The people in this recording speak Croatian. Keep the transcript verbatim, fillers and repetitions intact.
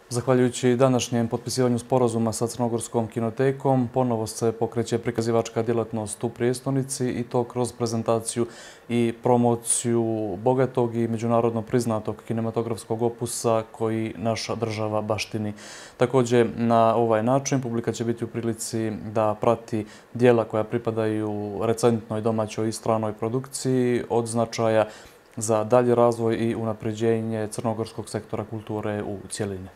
Zahvaljujući današnjem potpisivanju sporazuma sa Crnogorskom kinotekom, ponovo se pokreće prikazivačka djelatnost u prijestolnici i to kroz prezentaciju i promociju bogatog i međunarodno priznatog kinematografskog opusa koji naša država baštini. Također, na ovaj način publika će biti u prilici da prati dijela koja pripadaju recentnoj domaćoj i stranoj produkciji od značaja za dalji razvoj i unapređenje crnogorskog sektora kulture u cjelini.